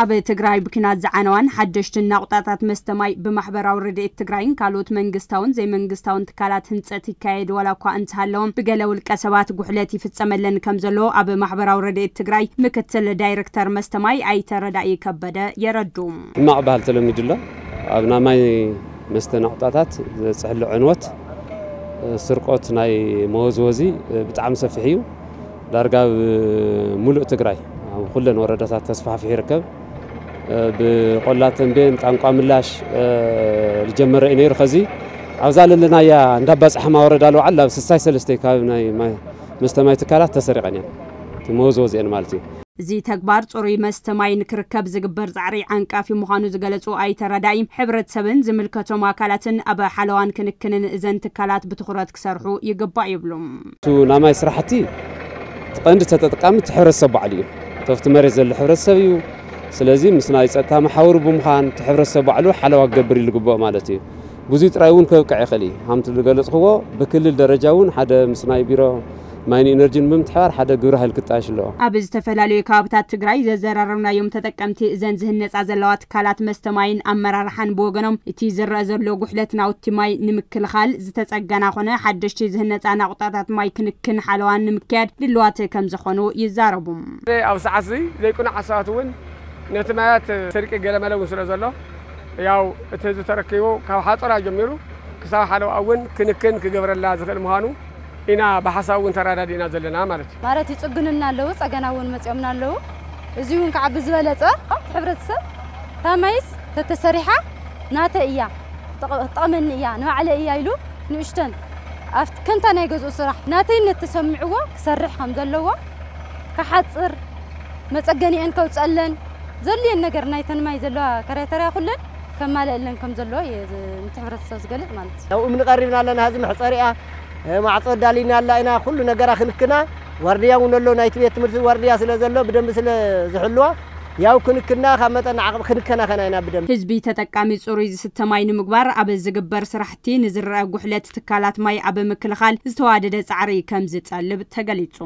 ኣብ ትግራይ ብኲናት ዝዓነዋን ሓደሽትን ናቑጣታት መስተ ማይ ብማሕበራዊ ረድኤት ትግራይን ካልኦት መንግስታውን ዘይመንግስታውን ትካላት ህንፀት ይካየድ ዋላ እኳ እንተሃለዎም፣ ብገለ ውልቀ ሰባት ጉሕለት ይፍፀመለን ከም ዘሎ ኣብ ማሕበራዊ ረድኤት ትግራይ ምክትል ዳይሬክተር መስተ ማይ ኣይተ ረዳኢ ከበደ የረዱ። ሕማቕ ባህል ተለሚዱ ኣሎ። ኣብ ናይ ማይ መስተ ናቑጣታት ዘፅሕሎ ዕንወት፣ ስርቆት ናይ መወዝወዚ ብጣዕሚ ሰፊሕ እዩ። ዳርጋ ኣብ ሙሉእ ትግራይ ኣብ ኩለን ወረዳታት ተስፋሕፊሑ ይርከብ። ብቆላ ተንቤን ጣንቋ ምላሽ ዝጀመረ እዩ ነይሩ። ከዚ ኣብዛ ለለናያ እንዳባፃሕማ ወረዳ ለውዓል ኣብ ስሳይ ሰለስተ ካብ ናይ ማይ መስተ ማይ ትካላት ተሰሪቐን እየን። እቲ መወዝወዚአን ማለት እዩ። እዚ ተግባር ጽሩይ መስተ ማይ ንክርከብ ዝግበር ጻዕሪ ዓንቃፊ ምዃኑ ዝገለጹ ኣይተ ረዳኢ፣ ሕብረተሰብን ዝምልከቶም ኣካላትን ኣብ ሓለዋን ክንክንን እዘን ትካላት ብትኹረት ክሰርሑ ይግባእ ይብሉ። እቲ ናይ ማይ ስራሕቲ እቲ ቀንዲ ተጠቃሚ እቲ ሕብረተሰብ ባዕሉ እዩ። እቲ ኣብቲ መሬት ዘሎ ሕብረተሰብ እዩ። ስለዚ ምስ ናይ ጸጥታ መሓውሩ ብምዃን እቲ ሕብረተሰብ ባዕሉ ሓለዋ ክገብር ኢሉ ግብኦ ማለት እዩ። ብዙይ ጥራይ እውን ከብቅዕ ይኽእል እዩ። ከምቲ ዝገለጽክዎ ብክልል ደረጃ እውን ሓደ ምስ ናይ ቢሮ ማይን ኢነርጂን ብምትሕባር ሓደ ግብረ ኃይል ክጣየሽ ኣለዎ። ኣብ ዝተፈላለዩ ከባብታት ትግራይ ዘዘራረብናዮም ተጠቀምቲ እዘን ዝህነፃ ዘለዋ ትካላት መስተ ማይን ኣመራርሓን ብወገኖም፣ እቲ ዝረአ ዘሎ ጉሕለት ናውቲ ማይ ንምክልኻል ዝተፀገና ኮነ ሓደሽቲ ዝህነፃ ናቑጣታት ማይ ክንክን ሓለዋን ንምክያድ ድልዋት ከም ዝኾኑ ይዛረቡ። ኣብ ሰዓት እዚ ዘይቅኑዕ ኣሳባት እውን ነቲ ማያት ስርቂ ገለመለ እውን ስለ ዘሎ፣ ያው እቲ ህዝቢ ተረኪቡ ካብ ሓፀራ ጀሚሩ ክሳብ ሓለዋ እውን ክንክን ክገብረላ ዝኽእል ምዃኑ ኢና ብሓሳብ እውን ተረዳዲእና ዘለና ማለት እዩ። ማለት ይጽግኑና ኣለዉ፣ ጸገና እውን መጺኦምና ኣለዉ። እዚ እውን ከዓ ብዝበለጸ እቲ ሕብረተሰብ እታ ማይስ ተተሰሪሓ ናተይ እያ፣ ትጠ-፣ ትጠቕመኒ እያ፣ ንባዕለይ እያ ኢሉ ንእሽተን ኣብቲ ከምታ ናይ ገዝኡ ስራሕ ናተይነት ተሰሚዕዎ ክሰርሕ ከም ዘለዎ፣ ክሓጽር፣ መጸገኒአን ከውጸለን፣ ዘድልየን ነገር ናይተን ማይ ዘለዋ ከረተርያ ኩለን ከማልአለን ከም ዘለዎ እየ ዝ-፣ ነቲ ሕብረተሰብ ዝገልጽ ማለት እዩ። ያው እምኒ ቀሪብና ኣለና፣ ሕዚ መሕጸሪኣ፣ እ፣ ማዕጾ ኣዳሊና ኣላ ኢና፣ ኩሉ ነገራ ክንክና፣ ዋርድያ እውን ኣሎ፣ ናይቲ ቤት ትምህርቲ ዋርድያ ስለ ዘሎ ብደንቢ ስለ ዝሕልዋ፣ ያው ክንክና ካብ መጠን ዓቕሚ ክንከናኸና ኢና ብደንቢ። ህዝቢ ተጠቃሚ ጽሩይ ዝስተ ማይ ንምግባር ኣብ ዝግበር ስራሕቲ ንዝረአ ጉሕለት ትካላት ማይ ኣብ ምክልኻል ዝተዋደደ ጻዕሪ ከም ዝጠልብ ተገሊጹ።